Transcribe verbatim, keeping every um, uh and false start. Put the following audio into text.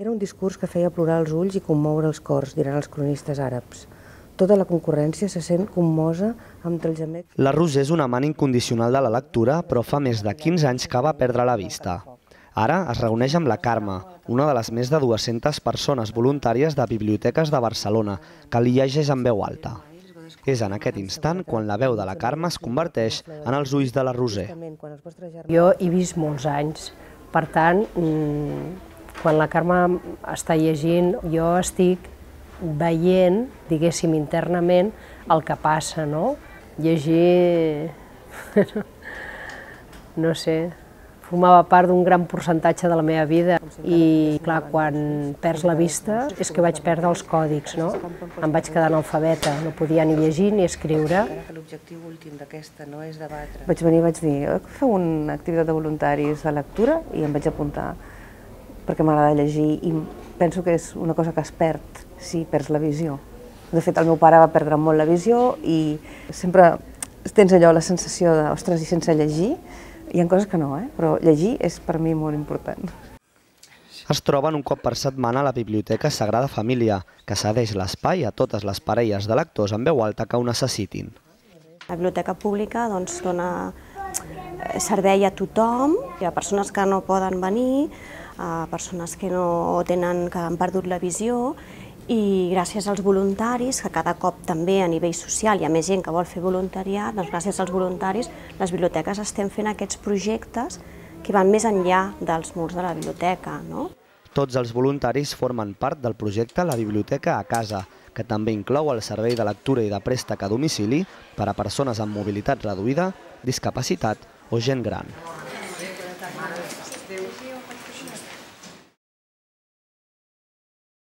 Era un discurs que feia plorar els ulls i commoure els cors, diran els cronistes àrabs. Tota la concurrència se sent commosa amb el gemec. La Roser és una amant incondicional de la lectura, però fa més de quinze anys que va perdre la vista. Ara es reuneix amb la Carme, una de les més de dues-centes persones voluntàries de biblioteques de Barcelona, que li llegeix en veu alta. És en aquest instant quan la veu de la Carme es converteix en els ulls de la Roser. Jo he vist molts anys, per tant, quan la Carme està llegint, jo estic veient, diguéssim, internament el que passa, no? Llegir, no sé, formava part d'un gran percentatge de la meva vida i, clar, quan perds la vista és que vaig perdre els còdics, no? Em vaig quedar analfabeta, no podia ni llegir ni escriure. Vaig venir i vaig dir, feu una activitat de voluntaris de lectura i em vaig apuntar perquè m'agrada llegir i penso que és una cosa que es perd si perds la visió. De fet, el meu pare va perdre molt la visió i sempre tens allò, la sensació de, ostres, i sense llegir, hi ha coses que no, eh? Però llegir és per mi molt important. Es troben un cop per setmana a la Biblioteca Sagrada Família, que cedeix l'espai a totes les parelles de lectors en veu alta que ho necessitin. La biblioteca pública doncs, dona servei a tothom, hi ha persones que no poden venir, a persones que no tenen, que han perdut la visió, i gràcies als voluntaris, que cada cop també a nivell social hi ha més gent que vol fer voluntariat, doncs gràcies als voluntaris les biblioteques estem fent aquests projectes que van més enllà dels murs de la biblioteca, no? Tots els voluntaris formen part del projecte La Biblioteca a Casa, que també inclou el servei de lectura i de préstec a domicili per a persones amb mobilitat reduïda, discapacitat o gent gran.